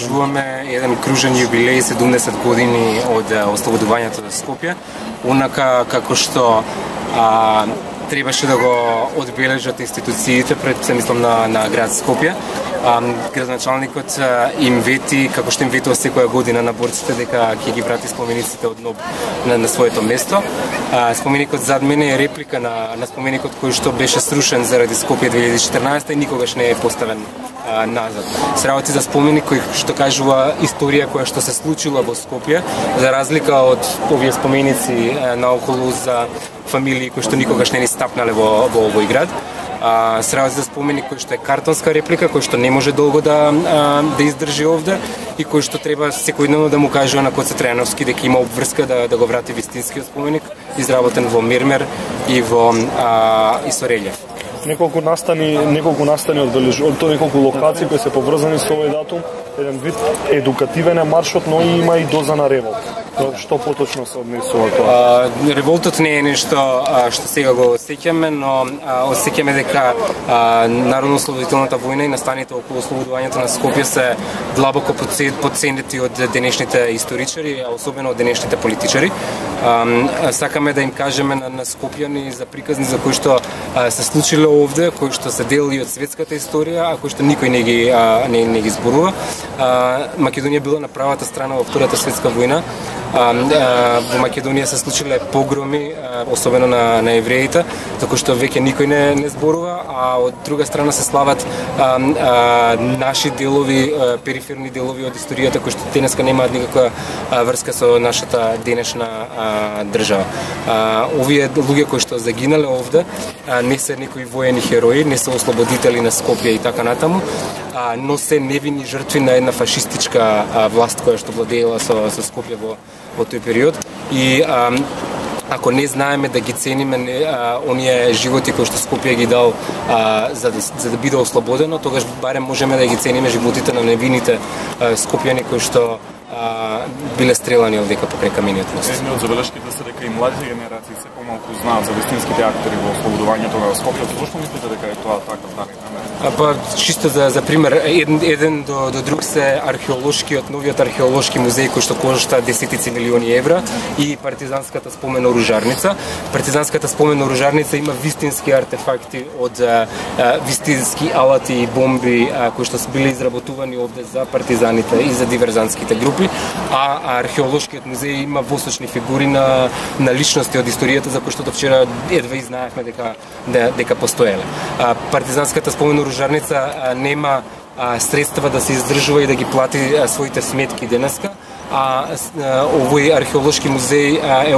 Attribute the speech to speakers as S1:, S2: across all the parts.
S1: обележуваме еден кружен јубилеј 70 години од ослободувањето на Скопје, онака како што требаше да го одбележат институциите пред, се мислам, на град Скопје. Градоначалникот им вети, како што им ветува секоја година на борците, дека ќе ги врати спомениците однов на своето место. Споменикот зад мене е реплика на споменикот кој што беше срушен заради Скопје 2014 и никогаш не е поставен назад. Се работи за споменик кој што кажува историја која што се случила во Скопје, за разлика од овие споменици наоколу за фамилии кои што никогаш не ни стапнале во овој град. Се работи за споменик кој што е картонска реплика, кој што не може долго да издржи овде и кој што треба секојдневно да му кажува на Коце Трајановски дека има обврска да го врати вистинскиот споменик, изработен во мермер и со релјеф.
S2: Неколку настани од тоа, неколку локации кои се поврзани со овој датум, еден вид едукативен е маршот, но има и доза на револт. Што поточно се однесува тоа?
S1: Револтот не е нешто што сега го осеќаме, но осеќаме дека Народно-ослободителната војна и настаните околу ослободувањето на Скопје се длабоко потценети од денешните историчари, а особено од денешните политичари. Сакаме да им кажеме на скопјани за приказни за кои што се случиле овде, кои што се дел и од светската историја, а кои што никој не ги зборува. Македонија била на правата страна во Втората светска војна. Во Македонија се случиле погроми, особено на евреите, за кои што веќе никој не зборува, а од друга страна се слават наши делови, периферни делови од историјата кои што денеска немаат никаква врска со нашата денешна држава. Овие луѓе кои што загинале овде не се некои воени херои, не се ослободители на Скопје и така натаму, но се невини жртви на една фашистичка власт која што владеела со Скопје во тој период. И ако не знаеме да ги цениме оние животи кои што Скопје ги дал за да биде ослободено, тогаш барем можеме да ги цениме животите на невините скопјани кои што биле стрелани овдека покрај камениот мост.
S3: Едни од забелешките се дека и младите генерации се помалку знаат за вистинските актери во ослободувањето на Скопје. Зошто мислите дека е тоа така данни?
S1: Чисто за пример, еден до друг се новиот археолошки музеј кој што кошта десетици милиони евра и партизанската спомен оружарница. Партизанската спомен оружарница има вистински артефакти од вистински алати и бомби кои што се биле изработувани овде за партизаните и за диверзантските групи, а археолошкиот музеј има восочни фигури на личности од историјата за кои што до вчера едва и знаевме дека постоеле. Партизанската спомен оружарница нема средства да се издржува и да ги плати своите сметки денеска, а овој археолошки музеј е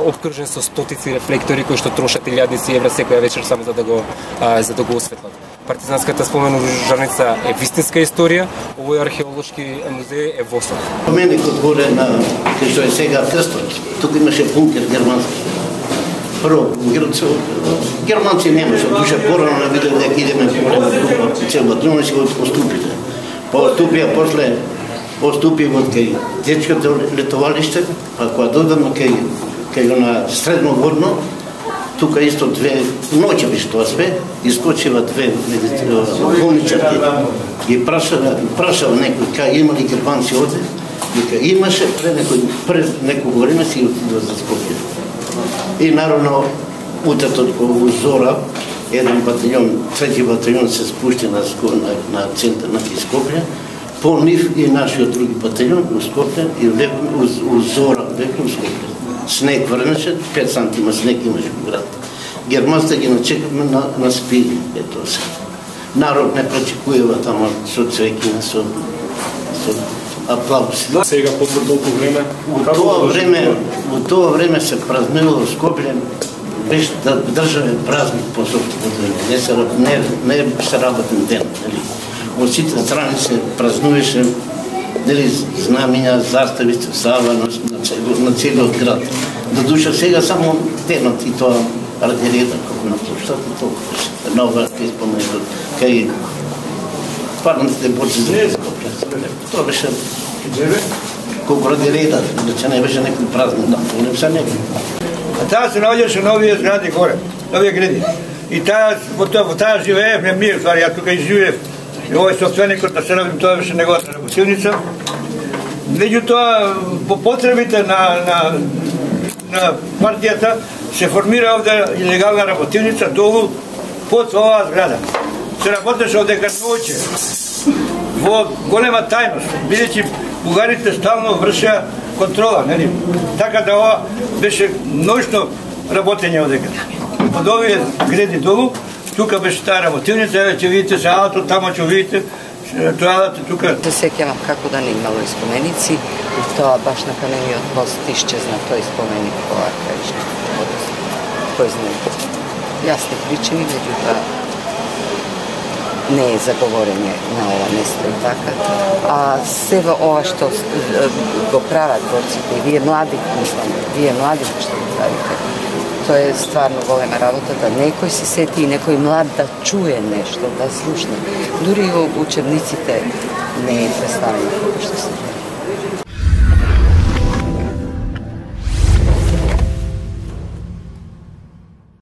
S1: обкружен со стотици рефлектори кои што трошат илјадници евра секоја вечер само за да го осветлат. Партизанската спомен оружарница е вистинска историја, овој археолошки музеј е восок.
S4: Споменикот горе на кој што е сега крстот, тука имаше бункер германски. Прво, германци немаше, душа порано на видео дека идеме голема група, цела друга си го поступите. После поступи од кај детското летовалиште, а кога додаме кај на средноводно, тука исто две ноќе беше тоа све, искочива две болничарки, ги прашава некој кај има ли германци овде, дека имаше пред некој време си отидува за Скопје. И наравно, утрето во зора, еден батальон, трети батальон се спушти на центар на Скопје, по нив и нашиот други батальон у Скопје и у зора веќе у Скопје. Снег врнеше, 5 сантима снег имаше во град. Германците ги начекаме на спини, ето се. Народ не пречекувува тамо со цвеќи, со аплаузи.
S2: Сега по толку време?
S4: Во тоа време се празнувало Скопје, беше да државен празник по ослободување, не се работен ден, нели? Во сите страни се празнуваше, нели, знамиња, застави, слава на целиот град. До душа сега само денот и тоа ради реда, како на площад и толку. Нова кај споменуват, кај парните борци за Скопје. Тоа беше колку ради реда, да не беше некој празник, не се некој.
S5: Таа се наоѓаше на овие згради горе, на овие гради. И во таа живеев, не ми, јас тука и живеев. И овој собственикот да се равим, тоа беше неговата работа. работилница. Меѓутоа, по потребите на партијата се формира овде илегална работилница долу под оваа зграда. Се работеше одека ноќе во голема тајност, бидејќи бугарите стално вршеа контрола, нели? Така да ова беше ноќно работење одека. Од овие гради долу, тука беше таа работилница, ќе видите се ауто, тамо ќе видите тоалата тука.
S6: Се сеќавам како да не имало и споменици, и тоа баш на Камениот мост исчезна тој споменик во архаични. Кој знае? Јасни причини, меѓутоа не е заговорење на ова место и така. А се во ова што го прават борците, и вие млади, мислам, вие млади што го правите, тоа е стварно голема работа, да некој се сети и некој млад да чуе нешто, да слушне. Дури и во учебниците не е представено.